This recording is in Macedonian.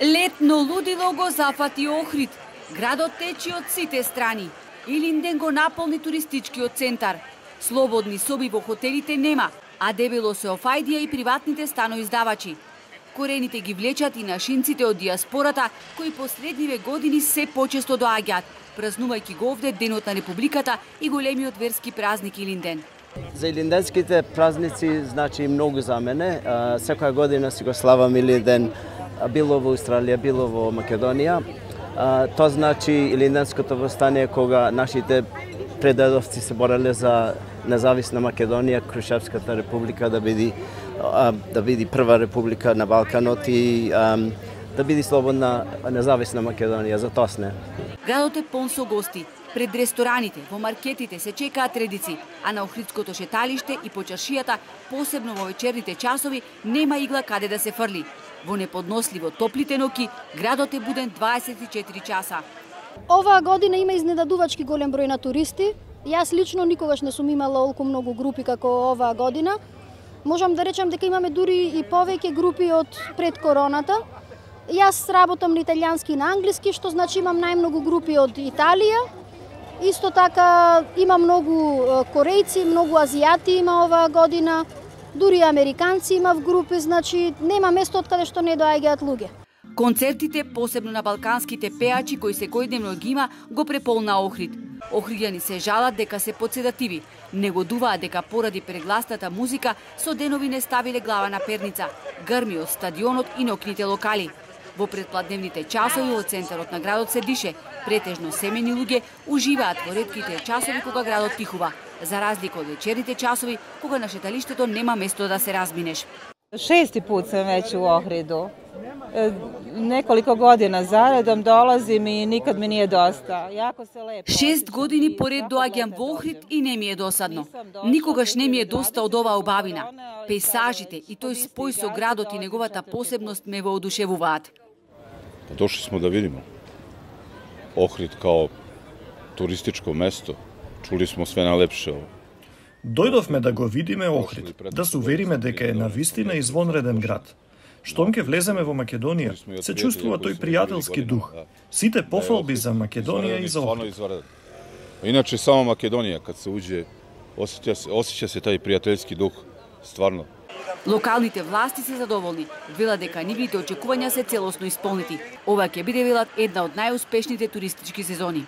Летно лудило го зафати Охрид. Градот течи од сите страни. Илинден го наполни туристичкиот центар. Слободни соби во хотелите нема, а дебело се офајдија и приватните станоиздавачи. Корените ги влечат и нашинците од диаспората, кои последниве години се почесто доаѓаат, празнувајќи го овде Денот на Републиката и големиот верски празник Илинден. За илинденските празници значи многу за мене. Секоја година си го славам Илинден, било во Австралија, било во Македонија. Тоа значи Илинденското востание кога нашите предадовци се бореле за независна Македонија, Крушевската република да биде прва република на Балканот и да биде слободна независна Македонија, за тоа сне. Градот е полн со гости. Пред рестораните, во маркетите се чекаат редици, а на Охридското шеталиште и по чаршијата, посебно во вечерните часови, нема игла каде да се фрли. Во неподносливо топлите ноќи, градот е буден 24 часа. Оваа година има изненадувачки голем број на туристи. Јас лично никогаш не сум имала толку многу групи како оваа година. Можам да речам дека имаме дури и повеќе групи од пред короната. Јас работам на италијански и на англиски, што значи имам најмногу групи од Италија. Исто така има многу корејци, многу азијати има оваа година. Дури американци има в групи, значи нема место од каде што не доаѓаат луѓе. Концертите, посебно на балканските пеачи кои секојдневно ги има, го преполна Охрид. Охриѓани се жалат дека се подседативи. Негодуваат дека поради прегласната музика со денови не ставиле глава на перница. Грми од стадионот и ноќните локали. Во предпладневните часови во центарот на градот се дише. Претежно семени луѓе уживаат во ретките часови кога градот тихува, за разлика од вечерните часови кога на шеталиштето нема место да се разминеш. 6. put sam već u Ohridu. Nekoliko godina zaredom dolazim i nikad mi nije dosta. Jako se lepo. 6 години поред доаѓам во Охрид и не ми е досадно. Никогаш не ми е доста од оваа убавина. Пейсажите и тој спој со градот и неговата посебност ме воодушевуваат. Дошли smo da vidimo Ohrid kao turističko mesto. Čuli smo sve najlepše. Дојдовме да го видиме Охрид, да се увериме дека е навистина извонреден град. Штом ќе влеземе во Македонија, се чувствува тој пријателски дух. Сите пофалби за Македонија и за Охрид. Иначе само Македонија, кад се уđe, осеќа се тај пријателски дух, стварно. Локалните власти се задоволни. Велат дека нивните очекувања се целосно исполнети. Ова ќе биде, велат, една од најуспешните туристички сезони.